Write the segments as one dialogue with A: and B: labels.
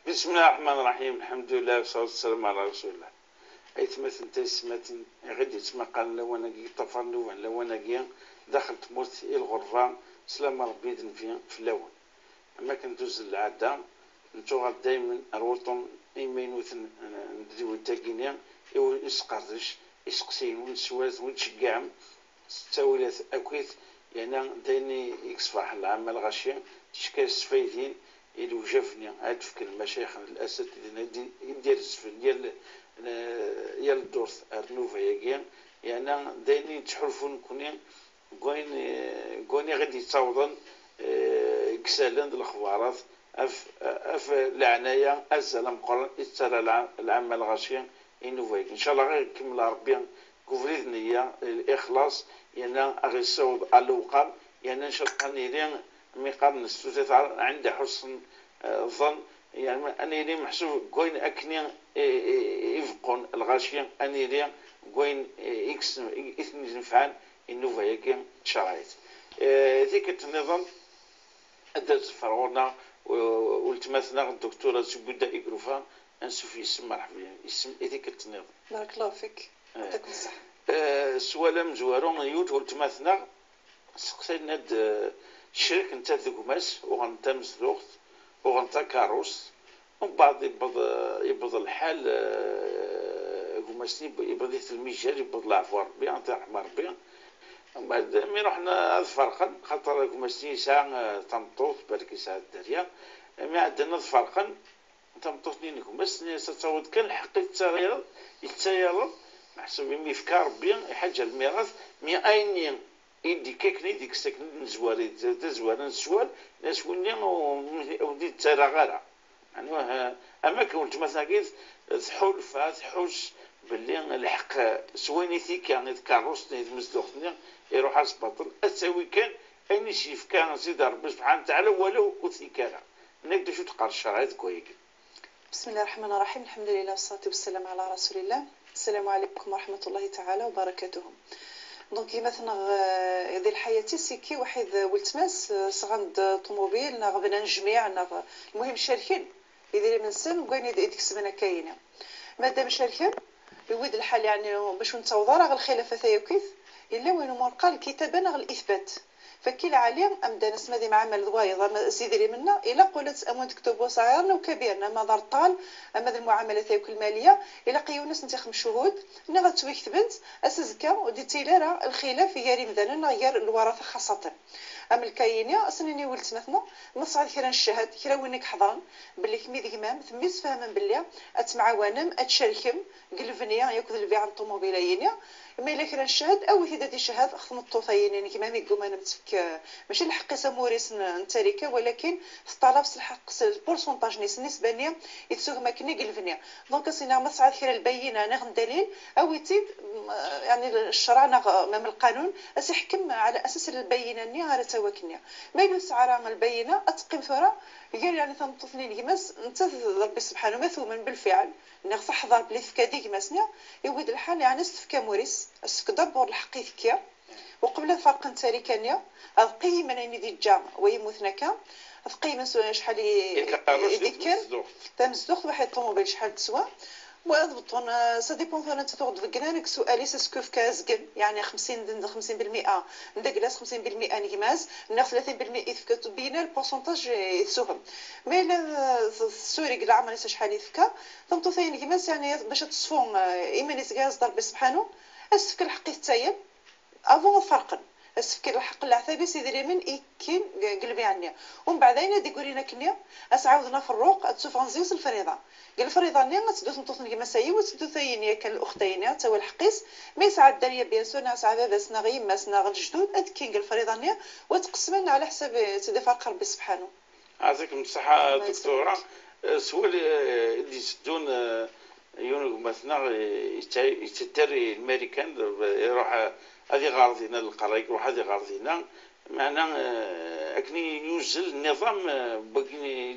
A: بسم الله الرحمن الرحيم، الحمد لله والصلاة والسلام على رسول الله. أيتمثل تيسمات غادي تسمى قال لوانا كي طفر نوان لوانا كي دخلت تموت الغرفة سلام ربي دنفي في الأول. أما كندوز العادة نتوغل دايما الوطن إيمينوثن نديو تاكينيا إيو يسقردش يسقسين ونسوات ونتشجعم ستاولات أكيد يعني دايني يكسفح العمل غاشي تشكي السفايدين إلو جافني عاد في المشايخ الأساتذة يدير السفن ديال ديال الدورث أرنوفا ياكي يعني دايني تحرفون كوني كوني غادي يتصاوضن كسالن الأخبارات أف العناية أزل مقرن يتسرى العمل الغاشي إنوفا إن شاء الله غير يكمل ربي كفريد نية الإخلاص يعني غير يصوب على الوقام يعني إن شاء الله نيرين مقام نستوث عند حسن الظن يعني أني لي محسوب كوين أكني يفقون الغاشية أني لي كوين إكس إثنين نفعل إنوفا ياكي شرايط ذيك النظام أدى فرعونا والتمثنا الدكتورة زبودة إكروفا نسوف يسمى مرحبا يسمى ذيك النظام.
B: بارك الله فيك، يعطيكم الصحة.
A: سوالا مزوارون يوت والتمثنا سقسينا الشرك نتا ذكماس وغنتا مزلوخت وغنتا كاروس ومن بعد يبض الحال كماسني يبض المجال يبض العفو ربي انت رحمة ربي. ومن بعد مي رحنا فرقا خاطر كماسني ساعة تمطوط بالك ساعة الدارية مي عندنا فرقا تمطوط نين كماسني ستعود كان الحق يتسايرض محسوب مي فكا ربي حاجة الميراث مي أين يدي كيكني ديك الساكن نزواري تزوار نسوال ناس وني ودي ترى غارة يعني أما كنت مثلا كيف تحولفا تحوس باللي الحق سويني ثيك يعني تكروسني تمزدوختني يروح على الباطل أساوي كان أين شي كان سيدي ربي سبحانه وتعالى ولو وثيكارا نقدر شو تقرا الشرعية كويك.
B: بسم الله الرحمن الرحيم، الحمد لله والصلاة والسلام على رسول الله. السلام عليكم ورحمة الله تعالى وبركاته. donc كيما ثنا ذي الحياة سيكي واحد ولتماس صغند طوموبيل ناغ بنا نجميع ناغ المهم شاركين يدير من سن وكاين يديك السمانة كاينة مادام شاركين يود الحال يعني باش نتوضا راه الخلافة ثايوكيث إلا وين مرقى الكتابة ناغ الإثبات فكيل عليهم أمدا نسمى ذي معامل ضوايض سيدي منا إلا قلت أمون تكتب صغيرنا وكبيرنا ما دار طال أما ذي المعاملة ثايوك المالية إلا قيونس نتي خمس شهود نغا تويك بنت أسزكا ودي تيلارا الخلاف ياري مدانا غير الورثة خاصة أم الكاينيا أصنيني ولت مثلا نصعد كرا الشهاد كرا وينك حضرن باللي كمي ذيك مام ثميس فهما باللي أتمعاونم أتشاركم قلفنيا ياكل البيع عن الطوموبيلينيا ما إلا كرا الشهاد أو إذا دي شهاد خدم الطوطيين يعني كيما ميقوم أنا متفك ماشي الحق ساموريس نتاريكا ولكن طلب الحق ال pourcentage نيس النسبة نيا يتسوق ما كني قلفنيا donc سينا ما صعد كرا البينة ناخذ دليل أو يتيد يعني الشرع من القانون أسيحكم على أساس البينة نيا على تواكنيا ما يلو سعر البينة أتقيم ثورة قال يعني ثمطفنين كيماس انت ربي سبحانه مثوما بالفعل ناخذ تحضر بلي فكا ديك نيا يود الحال يعني استفكا موريس استفك دبور الحق يفكيا وقبل فرق تاريكانيا القيمة يعني دي جا ويموتنا كا القيمة شحال يديك تمزدوخ واحد الطوموبيل شحال تسوى وضبطون ça dépend ثانا تاخذ في سؤالي est-ce que في كازكن يعني 50 50% ندكلاس 50% نكماز ناخذ 30% يفكا بينا ال pourcentage يتسوهم mais لا السوري كاع عمري شحال يفكا ثم ثاني نكماز يعني باش تصفون ايمان يتكاز ربي سبحانه اسفك الحق يتاين avant فرقا اسفك الحق العثابي سيدي من إكين قلبي عني ومن بعد اين دي قولينا كنيا اسعاودنا في الروق تسوف غنزيوس الفريضة قال الفريضة ني غتدو تنطوط كيما ساي وتدو ثاين كان الاختين تا هو الحقيس mais ساعة الداريه bien sûr ساعة بابا سنا غيما سنا غير الجدود ادكين قال الفريضة ني وتقسمنا على حساب سيدي فرق ربي سبحانه.
A: يعطيكم الصحة دكتورة. سؤال اللي يسدون يونغ مثلا يتدري الامريكان يروح هذه غارضينا للقرايق يروح هذه غارضينا معنا اكني ينزل النظام باقي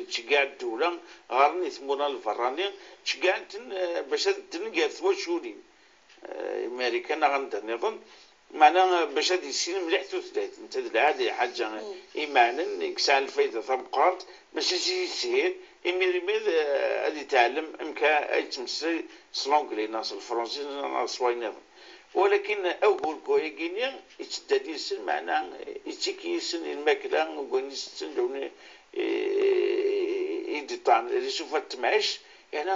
A: تشكاع الدولة غارني ثمونا الفراني تشكاع باش تنقال ثوا شولين امريكان غندا النظام معناها باش هادي السين مليح تثلث انت العادي حاجة إيمانا يكسع الفايدة تمقارت باش يسهل إمير غادي يتعلم إمكا يتمسي سلونجلي ناس الفرنسي ناس واينيض ولكن أول كويكينيا يتدادي السن معناها يتيكي السن الماكلة وقولي السن دوني يدي طعم اللي سوف تمعش يعني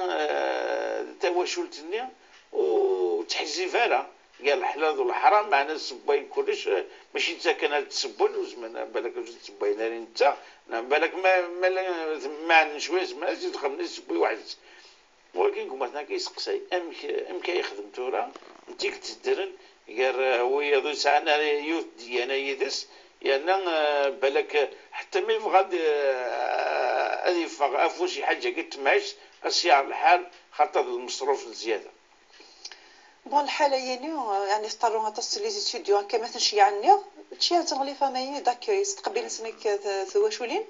A: تواشلتني وتحزي فارا قال الحلال والحرام معنا السباين كلش ماشي انت كان تسبون وزمان بالك تسبين انت بالك ما ما شوية زمان زيد خمني تسبي واحد ولكن كما مثلا كيسقسي ام كيخدم تورا انت كتدرن قال هو يضو ساعة يوث ديانا يدس لان يعني بالك حتى ما يبغى غادي يفغ افو شي حاجة كتمعش اسيار الحال خاطر المصروف الزيادة.
B: bon الحالة يعني اضطروا تصل les étudiants كما تنشي عني تشي تنغلي familles d'accueil استقبل سنك ثواشولين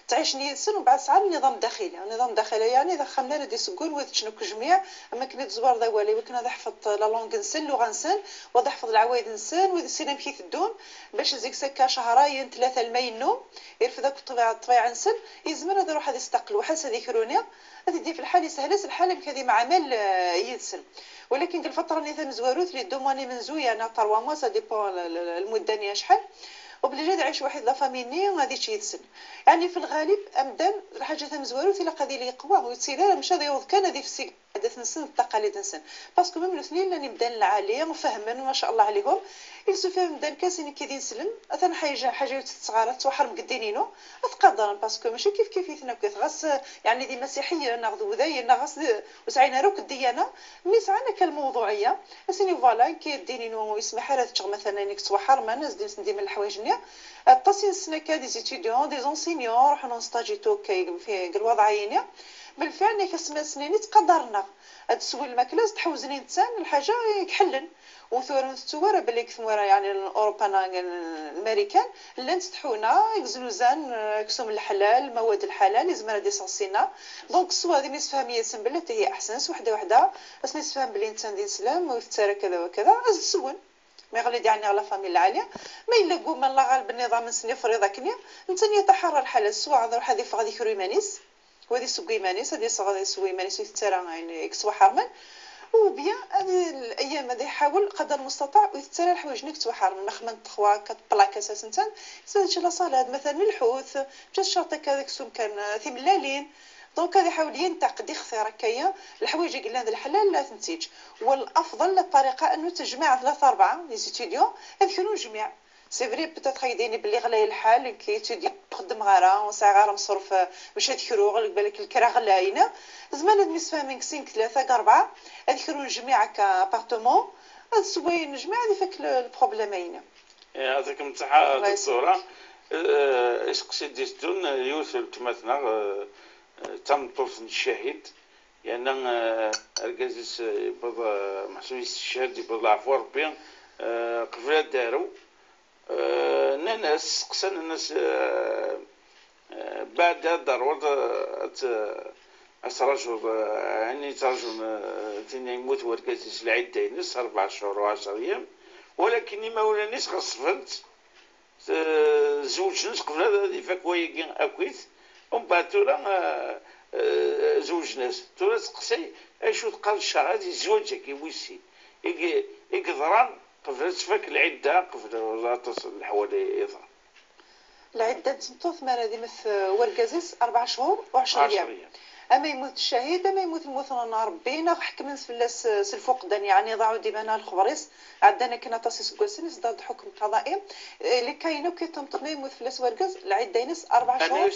B: تعيش نيسن وبعد ساعة النظام الداخلي النظام الداخلي يعني اذا خمنا ردي سكون وتشنك جميع اما كنا تزوار ذا والي وكنا حفظ la langue نسن اللغة نسن وضع حفظ العوايد نسن وذا مكي تدوم باش زيك سكا شهرين ثلاثة المينو يرفد ذاك الطبيعة نسن يزمر هذا روح هذا يستقل وحس هذيك رونيا هذه دي في الحال يسهلس الحال كذي مع عمل يدسن. ولكن في الفترة اللي ثم زواروت اللي دوماني من زويا انا 3 mois ça dépend المدة شحال وبلي جا عايش واحد la famille غادي تيتسن يعني في الغالب امدان الحاجة تم زواروت الا قضي لي قوى ويتسير مشى يوض كان هذه في السيك عادات نسن التقاليد نسن parce que même الاثنين لاني مدان العالية وفهما ما شاء الله عليهم يلسو فيهم مدان كاسين كي نسلم اثن حاجة تصغار توحر مقدينينو اتقدر parce que ماشي كيف كيف يثنا غاس يعني دي مسيحية ناخذ وذاي غاس وسعينا روك الديانة mais سعنا كالموضوعيه اسيني voilà كي دينينو يسمح لها تشغ مثلا انك توحر ما نزيد ندير من الحوايج نيا الطاسين السنة كا des étudiants des enseignants روحنا نستاجيتو كي في الوضعية بالفعل كسما سنين تقدرنا هاد السويل الماكلة تحوزني نتسان الحاجة يكحلن وثورن ثورة بلي كثمورة يعني اوروبا الامريكان لان تحونا يكزنوزان كسوم الحلال المواد الحلال لازم راه ديسونسينا donc سوا هذه نسفهم ياسن بلي هي احسن وحده وحده بس نسفهم بلي نتسان دين سلام وثاره كذا وكذا السون ما يغلي يعني على famille العالية ما يلاقو من الله غالب النظام نسني فريضة كنيا نتن يتحرر الحالة سوا روح هذه فغادي كرو مانيس وهذه سوقي مانيس هذه صغادي سوي مانيس ويترى يعني كسوا حرمان ou bien هذه الايام هذه يحاول قدر المستطاع ويتسرى الحوايج نك توحر من خمن 3 4 plats اساسا تان سالت la salade مثلا الحوت مشات شرطه كذاك سوم كان ثملالين donc هذا يحاول ينتقد يخثر هكايا الحوايج اللي هذا الحلال لا تنتج. والافضل الطريقة انه تجمع 3 4 les étudiants هذ جميع c'est vrai peut-être يديني بلي غلاي الحال كي تدي تخدم غارة وساعة غارة مصروف باش تكرو بالك الكرا غلاينا زمان هاد مسفاهمين 5 3 4 هاد كرو جميع ك appartement هاد سوين جميع هادي فاك ال problème اين.
A: يعطيكم الصحة دكتورة. اسقسي ديستون يوسف تمثنا تم طفل الشهيد لأن الكازيس يبض محسوب الشهيد يبض العفو ربي قبل دارو ناس قسنا الناس بعد ضرورة أسرجوا يعني ترجم تين يموت وركازيس العدة ينس 4 شهور و10 أيام ولكن ما ولا ناس غصفنت زوج ناس قبل هذا يفاك ويكين أكويت ومن بعد تورا زوج ناس تورا تقسي اشو تقال الشهر هذه زوجة كي يقدران قبل تفك العدة قبل تصل الحوالي يظهر
B: العدة تمطوط ما هذه مثل وركازيس 4 شهور و10 أيام. اما يموت الشهيد اما يموت الموت ربي حكم فلاس الفقدان يعني ضاعوا ديما الخبريس عندنا كنا تصيص كوسن ضد حكم قضائي اللي كاينو كي تمطط ما يموت فلاس وركز العدة ينس 4 شهور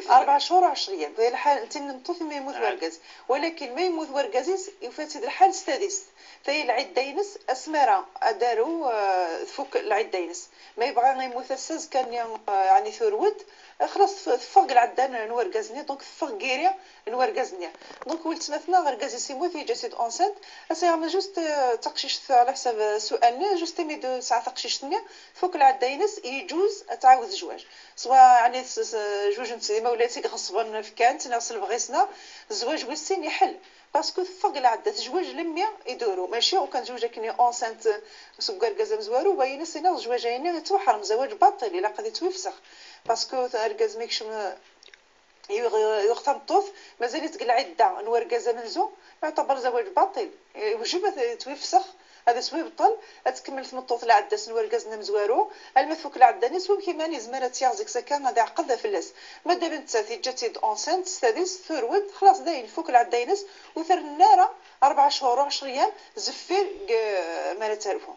B: 4 شهور و10 ايام في الحال انت نمطوط ما يموت وركز ولكن ما يموت وركزيس يفات الحال السادس فهي العدة ينس اسمره داروا فوق العدة ينس ما يبغى يموت الساز كان يعني ثرود خلاص فوق العدة نوركزني donc فوق كيري الدريه نوركازني. donc ولتمثنا غير سيموت يجسد enceinte اسي juste تقشيش على حساب سؤالنا juste مي دو ساعة تقشيشتني فوق العداينس يجوز تعاود الزواج سواء يعني جوج نتي ولاتي غصبا في كانت نغسل بغيسنا الزواج ويسين يحل parce que فوق العدة زواج لميا يدورو ماشي وكان زوجة كني enceinte سكر كازا مزوارو وين سينا زواجين يتوحرم زواج باطل الا قد يتوفسخ parce que اركاز ميكش يختم طوف مازال يتقل عده نوركازا منزو يعتبر زواج باطل وجب توفسخ هذا سوي بطل تكمل تمطوط العدة سنوركاز مزوارو المثوك العدة نسوي كيما نزمرة تيازيك سكان هذا عقد فلاس مادام انت تيجا enceinte ستاديس ثرود خلاص داين فوك العدة ينس وثر النار 4 شهور و10 ايام زفير ما تعرفو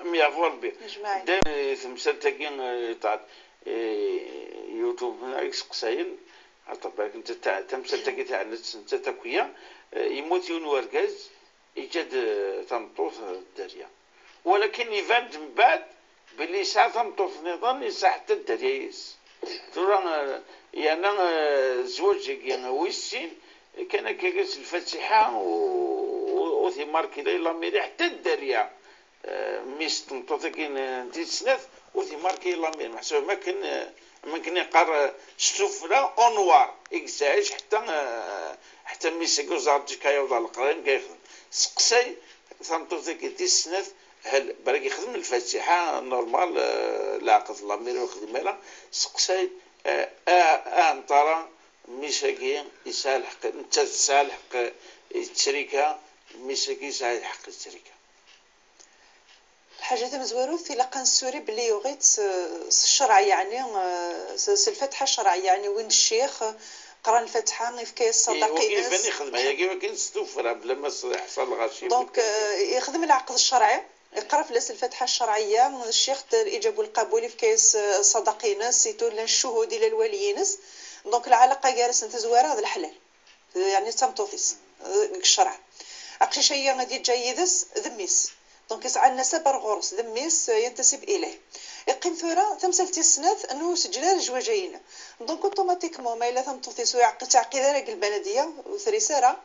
A: ميعفو ربي دايما تمثال تاكي تاع يوتيوب قساين بالك انت تمثال تاكي تاع انت تاكويا يموت يون وركاز يجد تمطوط الدارية ولكن يفاد من بعد باللي ساعة تمطوط نظام يساع حتى الدارية ترى يعني الزواج ويسين كان كيجلس الفاتحة وثمار كذا لا ميري حتى الدارية ميس تمطوط كاين تيتسناف وثمار كي لا ميري محسوب ما كان ما كان يقر السفلى اونوار يكزعج حتى ميس يقوز كايوض القرين كيخدم سقساي تنطوطيك تيسنات هل بالك يخدم الفاتحة normal العقد la mairie ويخدم لا سقساي انطرا ميساكي يسال الحق انت تسال الحق التريكه ميساكي يسال الحق التريكه.
B: الحاجة تمزواروث إلا قان السوري بلي يغيت الشرع يعني الفاتحة الشرعية يعني وين الشيخ قرا الفاتحة يفكي الصداق
A: يبان يخدم هي كيما كاين ستوفر بلا ما يحصل غاشي
B: donc يخدم العقد الشرعي يقرا في الفاتحة الشرعية الشيخ الاجاب والقبول يفكي الصداقينس يتولى الشهود الى الوليينس donc العلاقة جالس تزواره هذا الحلال يعني تمطوطيس الشرع اقشي هي غادي جايدس ذميس donc يسعى النسب غورس ذميس ينتسب اليه يقيم ثورة تمثل تيسنات انه سجل الجواجين donc automatiquement ما الا تمطوطيس ويعقد تعقيد راك البلدية وثريساره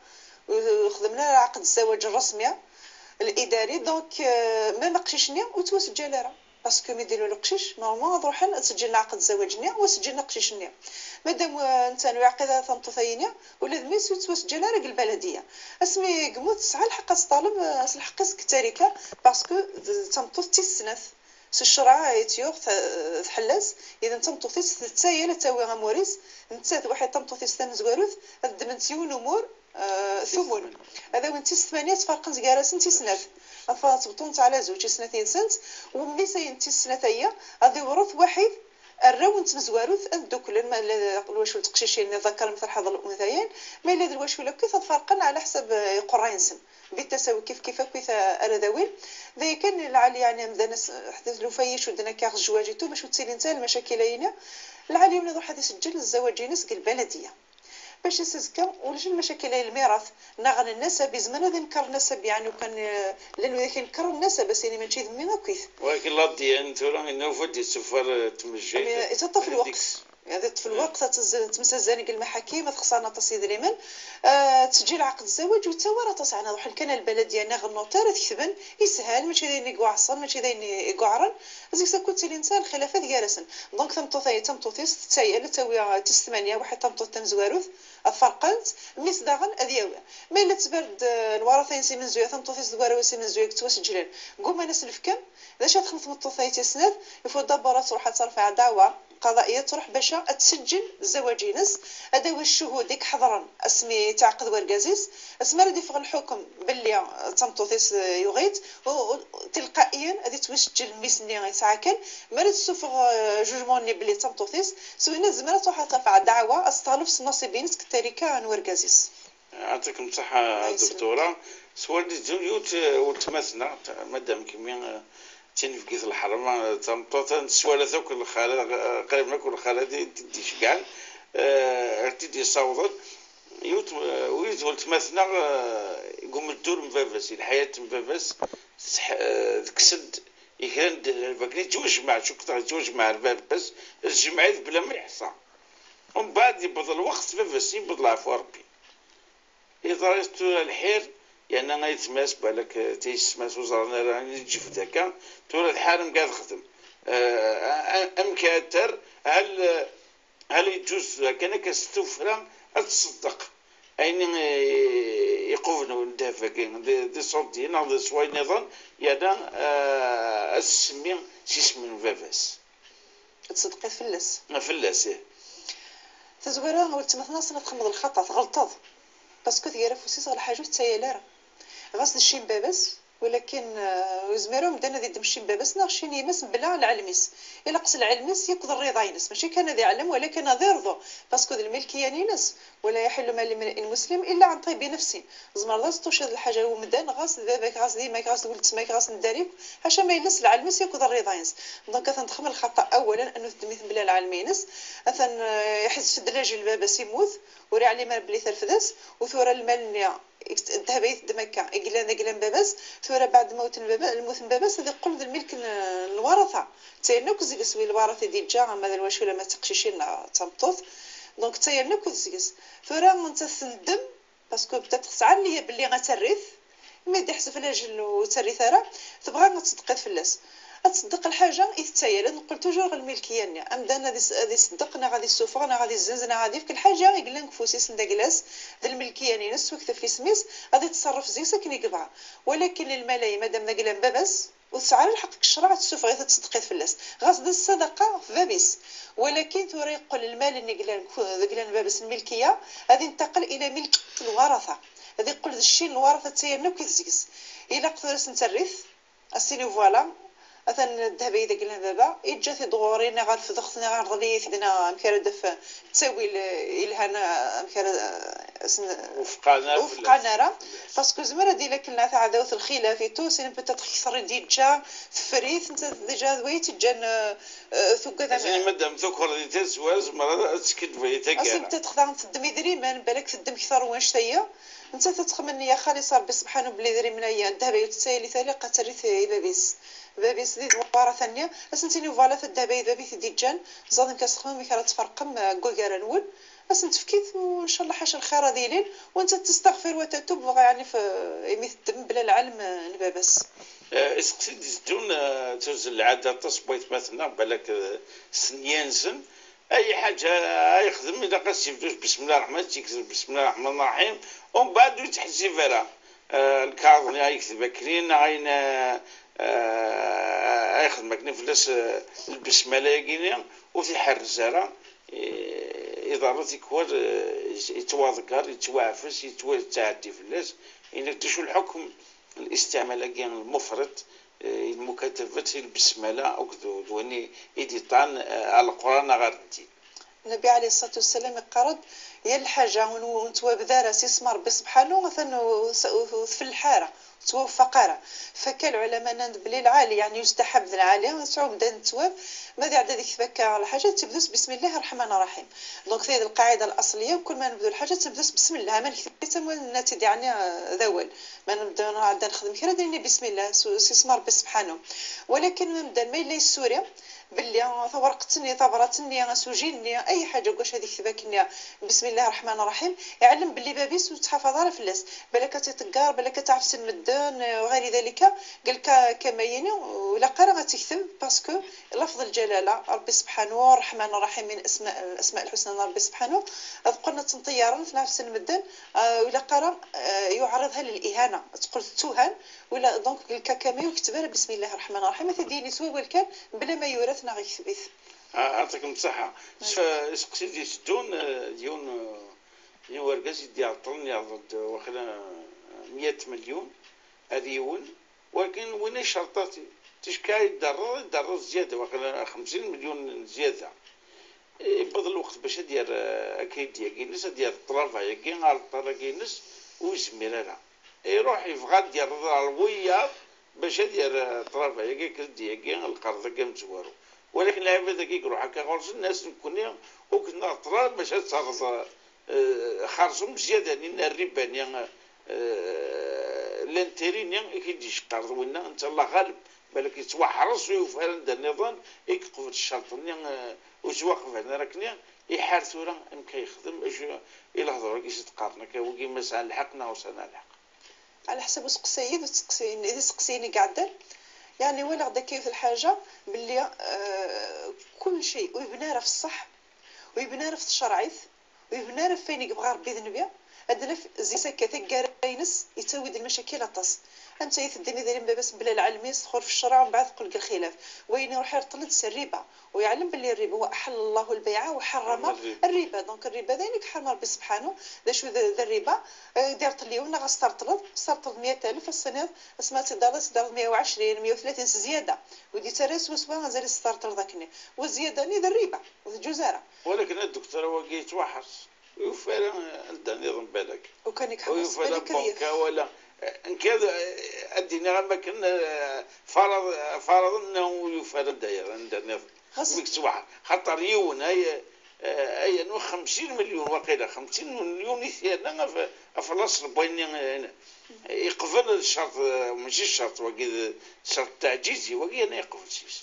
B: وخدمنا عقد الزواج الرسمي الاداري donc ما نقششني وتوسجل راه parce que مي ديروا القشيش normalement نروح نسجل عقد الزواج نيا وسجلنا قشيش نيا مادام انت نعقد تنطوثينيا ولا ذميس وتسجل راك البلدية اسمي قموت تسعى الحق طالب الحق كتاريكا parce que تمطوط تيسنث الشرع يتيوغ تحلس اذا تمطوطيس تسايل تاوي غاموريس نتا واحد تمطوطيس تمزواروث دمنتيون امور ثمن هذا وين تيس ثمانية تفرقن زكاراسن تيسنات تبطون على زوج سنتين سنت وملي ساين تيسنات غادي يورث واحد الراون تمزواروث دوك ما الواش التقشيشين ذكر مثل حظ الانثيين ما الا الواش ولا كيف تفرقن على حسب قراينسن بالتساوي كيف كيف كيف اراذاوين ذا كان العالي يعني مدنا حدث لو فايش ودنا كاغ الزواجيتو باش تسيلي نتا المشاكل هنا العالي من يروح يسجل الزواج ينس البلدية باش يسزكا ولش المشاكل الميراث نغن النسب زمان هذا نكر النسب يعني وكان لانه ذاك نكر النسب بس يعني ماشي ذمي كيف
A: ولكن لا دي ان انه فدي السفر تمشي
B: يتطفل الوقت يعني في الوقت تمسزاني المحاكم خصنا تصيد ريمن تسجيل عقد الزواج وتا راه تصعنا روح كان البلدية ناغ ال notaire تكتبن يسهل ماشي داين يقعصن ماشي داين يقعرن زيك سكوت الانسان الخلافات جالسن donc تمطوطي تمطوطيس تايا تاوي تس ثمانية واحد تمطوط تمزواروث فرقنت ميس داغن اذياوي ما الا تبرد الورثين سي من زويا تمطوطيس دوارو سي من زويا توسجلن قوم انا سلفكم اذا شات خمس مطوطي تسنات يفو دابا تروح ترفع دعوه قضائية تروح باش تسجل الزواجينس هذا هو الشهود ديك حضرا اسمي تعقد وركازيس اسمي راه يفغ الحكم باللي تمطوطيس يغيت تلقائيا غادي توسجل ميسني غيتعاكل ما تسوفغ jugement ني بلي تمطوطيس سوينا زمرة تروح ترفع دعوه استغلف نصيبينس كتاريكا نوركازيس.
A: يعطيكم الصحة دكتورة سوال زوجوت وتمثنا مادام كمين تنفكيت الحرم تمطوط نسوالة ذوك الخالة قريب ناكل الخالة تدي شكال تدي صوضت يوت ويت ولتمثنا يقوم الدور مفافس الحياة مفافس تكسد يكران فاكني تزوج مع شو كثر تزوج مع الفافس الجمعية بلا ما يحصى ومن بعد يبض الوقت فاش يبض العفو ربي إذا الحير يعني أنا يتماس بالك تيسماس وزارنا راني تجي في ذاك تورا الحارم قاعد خدم أم كاتر هل يجوز كان كستوفرا تصدق أين يقوفنو ندافع دي صوتين دي سواي نظام يانا السمي سيسمن فافاس
B: تصدقي فلس
A: فلس إيه
B: تزويرا ولت مثلا سنة تخمض الخطأ تغلطض باسكو ثيرا فوسيس غير حاجة تايا غاس الشين بابس ولكن وزميرو مدانا ذي دمشي بابس نغشي نيمس بلا العلميس الا قص العلميس يقدر الرضا ينس ماشي كان ذي علم ولكن ذي رضو parce que ذي الملكية نينس ولا يحل مال لامرئ مسلم الا عن طيب نفسه زمر لا توشد الحاجة ومدان غاس بابك غاس ديماك غاس ولد تماك غاس نداريك حاشا ما يلس العلميس يقدر الرضا ينس. donc تنتخمل الخطا اولا انه تدميث بلا العلمينس اثن يحس دلاج البابس يموت وري علي مال بلي ثلفدس وثورة المال الذهب يتدمكا إقلان باباس ثورة بعد موت الموت باباس هذا يقول الملك الورثة تاينوك زيكس وي الورثة دي جا ما الواش ولا ما تقشيشين تمطوط donc تاينوك زيكس ثورة انت تندم parce que بدات تسعى ليا بلي غتريث mais دي لاجل وتريث راه تبغى تصدقي فلاس تصدق الحاجة يتسايل نقول toujours الملكية ني امدان غادي يصدقنا غادي يسوفغنا غادي يزنزنا غادي في كل حاجة يقلن كفوسيس نداكلاس ذا الملكية نينس وكتب في سميس غادي تصرف زيك ساكن يقبع ولكن الملاي مادام نقلان باباس وتسعى لحقك الشرع تسوف غير تصدقي فلاس غاز الصدقة في بابيس ولكن ثوري يقول المال اللي قلان بابس الملكية غادي ينتقل الى ملك الورثة غادي يقول الشيء الورثة تاعنا كيزيكس الا قدرت نتريث اسيني voilà مثلا الذهب إذا قلنا بابا إجا تدغورينا غير في ضغطنا غير ضليت دنا مكان دف تساوي إلهانا مكان وفقنا راه parce que زمرة ديال كلنا تاع عداوة الخلاف تو c'est peut-être كثر déjà فريث انت déjà دويت جان ثوكا
A: يعني مادام ذكر دي تزوال زمرة تسكت فيتا
B: كاع اصلا peut-être تدمي دريمان بالك تدم كثر واش تايا انت تتخمن يا خالص ربي سبحانه بلي دري من هي الذهب تسالي ثالي قتريث بابيس بابيس دي دوارة ثانية اسنتيني voilà في الذهب بابي دي جان زاد كتخمم مي تفرقم كوكارا نول اسن تفكيت وان شاء الله حاش الخير ديالين وانت تستغفر وتتوب يعني في يمثل بلا العلم البابس
A: اسقسي دون تنزل العادة تصبيت مثلا بالك سنيانزن اي حاجة يخدم اذا قاس يبدوش بسم الله الرحمن تيكتب بسم الله الرحمن الرحيم ومن بعد يتحسي فيها الكاظم يكتب كرين عين يخدم كني فلاس البسملة يكيني وتيحرز راه إدارة يكوار يتواذكر يتوعفس يتعدي فلاس إن شو الحكم الاستعمال كان المفرط المكاتبة البسملة أو كذا إيديطان على القرآن غير الدين.
B: النبي عليه الصلاة والسلام قرض يا الحاجة ونتوا بذارة سيسمى ربي سبحانه مثلا في الحارة توفقارة فكال العلماء بلي العالي يعني يستحب العالي ونسعو بدا نتواب ماذا عدا ديك فكا على حاجة تبدوس بسم الله الرحمن الرحيم. donc هذه القاعدة الأصلية وكل ما نبدو الحاجة تبدوس بسم الله ما نكتب الناتج يعني ذوال ما نبدا عدا نخدم كرا ديرني بسم الله سيسمى ربي سبحانه. ولكن نبدا ما إلا السوريا باللي ثورقتني ثبرتني غسوجيني اي حاجة واش هذيك تباكني بسم الله الرحمن الرحيم يعلم باللي بابيس وتحافظ على فلاس بالك تتقار بالك تعرف المدان وغير ذلك قال كما يني ولا قرا غتكتب parce que لفظ الجلاله ربي سبحانه الرحمن الرحيم من اسماء الاسماء الحسنى ربي سبحانه قلنا تنطيارا في نفس المدان ولا قرا يعرضها للاهانه تقول تهان ولا donc قال كما يكتب بسم الله الرحمن الرحيم تديني سوا والكان بلا ما يورث
A: يعطيكم الصحة. سقسي دي سدون ديون ورقاس يدي عطلني يعضد واخلا 100 مليون هذه ولكن وين شرطاتي تشكاي يدرر زيادة واخلا 50 مليون زيادة يبضل الوقت باش دير اكيد ياكينس ديال الطرافة ياكين على الطرا كينس ويزمير يروح يبغى دير الوياض باش دير الطرافة ياكي كردي ياكين القرض كام زوارو ولكن العباد كيقولوا هكا غرس الناس نكوني وكنا طرا باش تصرف خرجوا زيادة لان الربا l'intérêt كيديش قرض ونا انت الله غالب بالك يتوحرس ويفعل عند النظام يقفل الشرط وتوقف هنا راكني يحار ثورة ام كيخدم الى هضروا كيش تقارن كي ما الحق وسعنا الحق
B: على حسب سقسيد وتسقسيني اذا سقسيني قاعدة يعني ولا غدا كيف الحاجة باللي كل شيء ويبنى في الصح ويبنى في الشرعيث ويبنى فين يبغى ربي ذنبيا هاد زي سكة كارينس يتسوي المشاكل اطاس انت يتدني داري باباس بلا العلمي تدخل في الشرع ومن بعد تقول الخلاف وين يروح يرطل الربا ويعلم باللي الربا هو احل الله البيع وحرم الربا. donc الربا ذلك حرم ربي سبحانه ذا شو ذا الربا دارت لي غاسترطلد استرطلد 100,000 السنة اسمها تدار 120 130 زيادة ودي ترى سوا غزال استرطل ذاكني والزيادة ني ذا الربا والجزاره.
A: ولكن الدكتور هو كيتوحش ويفعل النظام بالك
B: وكان يحبس بالك
A: ولا ان كان الدنيا ما كان فرض انه يفعل داير عند النظام مكتوح خاطر يون هي اي 50 مليون وقيله 50 مليون يثيرنا في الاصل بين يقبل الشرط ماشي الشرط وكي الشرط التعجيزي وكي انا يقبل سيس.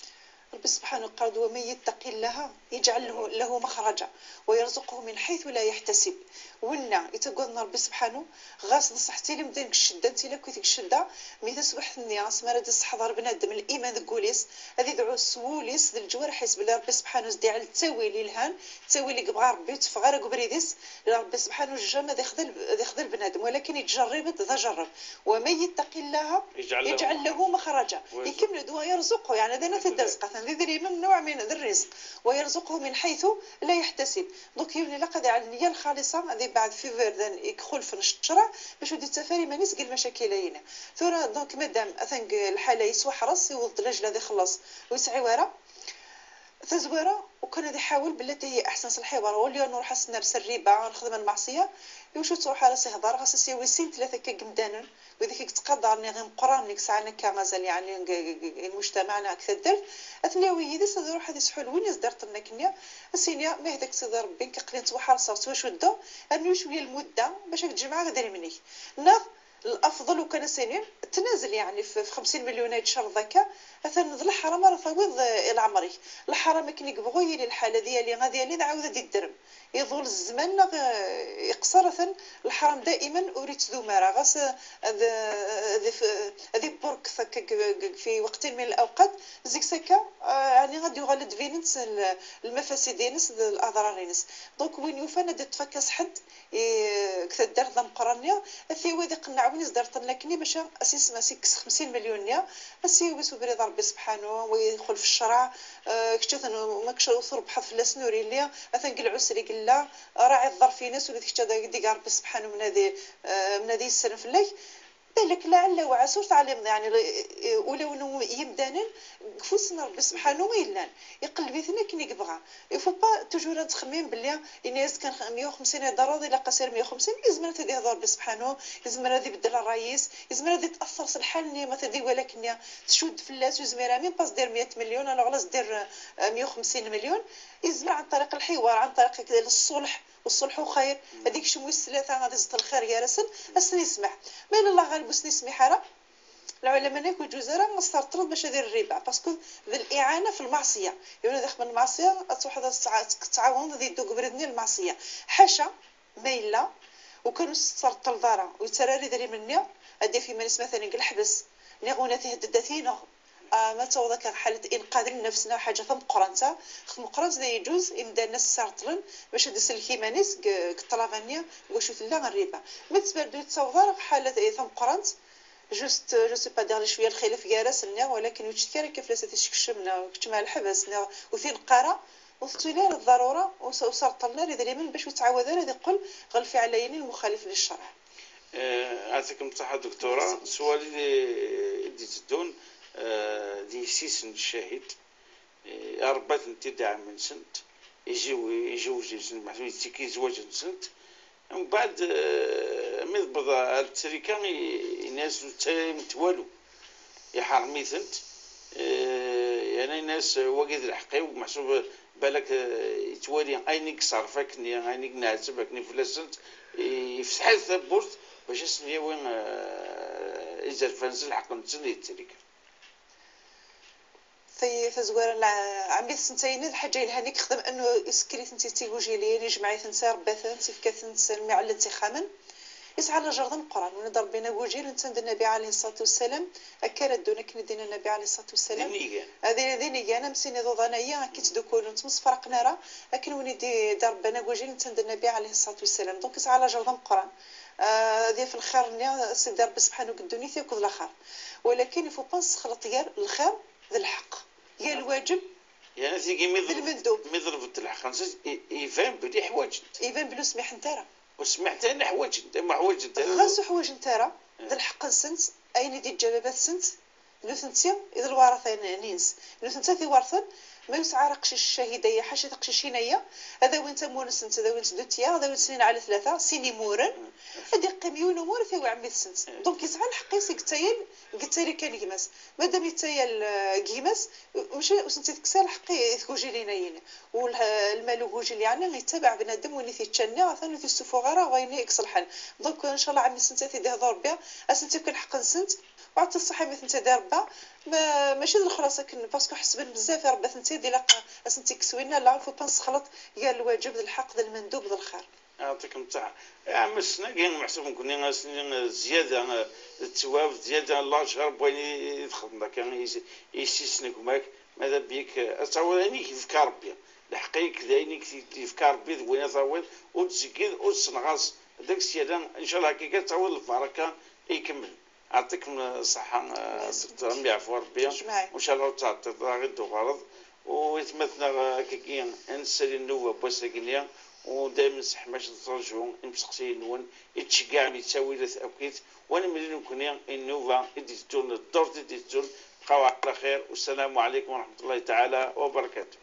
B: ربي سبحانه قال ومن يتق الله يجعل له مخرجا ويرزقه من حيث لا يحتسب. ونا يتقولنا ربي سبحانه غاس نصحتي لي مدينك الشدة انت لا كنت الشدة مي تسبح النيا سمارة تحضر بنادم الايمان ذكوليس هذه دعو سوليس الجوارح حسب الله ربي سبحانه زدي على التاويل الهان التاويل اللي بغى ربي تفغر قبريديس ربي سبحانه جا يخذل بنادم ولكن يتجرب ذا جرب. ومن يتق الله يجعل له مخرجا يكمل دوا يرزقه يعني هذا نفس الرزق ذي من نوع من الرزق ويرزقه من حيث لا يحتسب. donc يولي لقد على النية الخالصة هذه بعد في فردان يدخل في الشرع باش ودي التفاري ما نسقي المشاكل هنا ثورة. donc مادام اثنق الحالة يسوى حرص يوض الرجل هذا يخلص ويسعي ورا تزويره وكان هذا يحاول بالتي هي احسن الحوار واليوم نروح نرسل الربا نخدم المعصية وشو تروح على سيهضر غاس سيوي سين ثلاثة كقمدانا وذيك تقدرني غير مقران ساعة كمازال يعني المجتمعنا اكثر درت اثنيوي يدس روح هذه سحول وين يزدرت لنا كنيا السينيا ما هذاك سيدي ربي كقلين توحر صوت واش ودو انو شوية المدة باش تجمع غادي منيك ناغ الافضل وكان سنين تنازل يعني في 50 مليون يتشر ذكا مثلا الحرام راه فوض العمري الحرام كي يبغوا لي الحالة ديالي غادي لي نعاود الدرم يظل الزمن يقصر مثلا الحرام دائما اريد ذماره غاس هذه برك في وقت من الاوقات زيك سكا يعني غادي يغلد فينس المفاسد ينس الاضرار ينس. donc وين يوفانا تفكس حد كثر دار ذا مقرنيا في وادي قنع وين زدرت لكني باش اساس ما سيكس 50 مليون نيا اسي ويسو بريد ربي سبحانه ويدخل في الشرع كشت ما كش ربح في لاسنوري ليا مثلا قل عسري قل لا راعي الظرف ناس ولا كشت ديك ربي سبحانه من هذه السنة في الليل بالك لعل وعسى تعلم يعني ولو انه يمدانا كفوسنا ربي سبحانه ويلان يقلب ثنا كي يبغى il faut pas toujours تخمم بلي الناس كان 150 ضروري الا قصير 150 لازم تدي ربي سبحانه لازم هذه يبدل الرئيس لازم هذه تاثر الحال ما تدي ولكن تشد في اللاس وزميرا même pas دير 100 مليون alors علاش دير 150 مليون يزمر عن طريق الحوار عن طريق الصلح والصلح خير هذيك شموس ثلاثة غادي زت الخير يا رسل اسني يسمح ما الله غالب وسني يسمح راه العلماء ناكل جزرة مسترطرد باش يدير الربا parce que ذا الاعانة في المعصية يعني داخل من المعصية تروح تعاون ذي دوك بردني المعصية حاشا ما الا وكانوا استرطل دارا ويتراري دري مني ادي في مالس مثلا الحبس نيغونا تهدداتينا ما تو ذاك حالة إنقاذ النفس حاجة ثم قرنتا خدم قرنت ذا يجوز يمدا الناس سارطلن باش يدس الكيمانيس كطلافانيا واش لا الربا ما تبردو يتصور حالة ثم قرنت juste je sais pas دير شوية الخلاف كارس لنا ولكن وتشكي كيف لا تشكشمنا وكتمع الحبس وفين قرا وثلي الضرورة وصرطلنا لذا من باش يتعاود هذا يقول غلفي على يمين المخالف للشرع.
A: يعطيكم الصحة دكتورة. السؤال اللي تدون دي سيسن الشاهد أربعة انتداع من سنت يجيو تيكي زواج سنت ومن بعد من بضا التريكا الناس متوالو يحرمي ثنت يعني الناس واقد الحقي ومحسوب بالك يتوالي عينيك صرفك عينيك نعتبك فلاسنت يفتح الثبورت باش يسني وين إذا فنزل حق نتسني التريكا.
B: في تزوار عمي سنتين الحاجة الهانيك خدم انه يسكري ثنتي تيوجيلين يجمع ثنتي رباثن تيفكا ثنت تيخامن يسعى على جردن القران ونضرب ربنا وجيل انت النبي عليه الصلاة والسلام اكل دونا كندينا النبي عليه الصلاة والسلام هذه ذي انا مسيني ضوضانيا كي تدوكولو نتمسفرقنا راه لكن وليدي دار ربنا وجيل انت النبي عليه الصلاة والسلام donc يسعى على جردن القران هذه في الخير سيدي ربي سبحانه قدوني تياكل الاخر ولكن il faut pas نخلط غير الخير ذا الحق يا الواجب
A: يعني تيجي ميضرب الحق يفهم بلي حوايج
B: يفهم بلو سميح انت راه
A: وسمعت انا حوايج انت ما حوايج انت
B: غاسو حوايج انت راه ذا الحق سنت اين دي الجبابات سنت نو ثنتي اذا الورثة نينس نو ثنتي في ورثن ما يسعى رقش الشهيديه حاشا تقشيشينيا هذا وين تمونس انت هذا وين تدوتيا هذا وين سنين على ثلاثة سيني مورن هذه قيميون امور في عمي السنت donc يسعى الحق يسيك قتايل كان كيماس مادام يتايل كيماس ماشي وسنتي تكسى الحق ثكوجي لينا ين والمال وجي اللي عندنا يتبع بنادم وين تيتشنى ثاني تيسوفو غير وين يكسلحن donc ان شاء الله عمي سنتي تيدي هضر بها اسنتي كان حق سنت وعطي الصحة مثل انت دار با ماشي الخلاصة كن parce que حسبن بزاف ربا انت دي لا اسنتي كسوينا لا faut pas نسخلط يا الواجب ذا الحق ذا المندوب ذا الخير.
A: يعطيكم الصحة عام السنة كاين محسوب كنا سنين زيادة التواب زيادة الله شهر بوين يدخل كان يسيسنك ماك ماذا بيك تعود يعني كيف ربي الحقيقة كذا كيف ربي وين تعود وتزكي وتسنغاص داك الشيء ان شاء الله كي تعود البركة يكمل. يعطيكم الصحة دكتور يعفو ربي وإن شاء الله تعطي غير غرض ويتمثلنا كي نسالي النوبة بوساكينيا ودائما سحماش نترجعو نسقسي نون يتشجع يتساوي لا وانا ملي نكون النوبة يديتون الدور ديتون. بقاو على خير والسلام عليكم ورحمة الله تعالى وبركاته.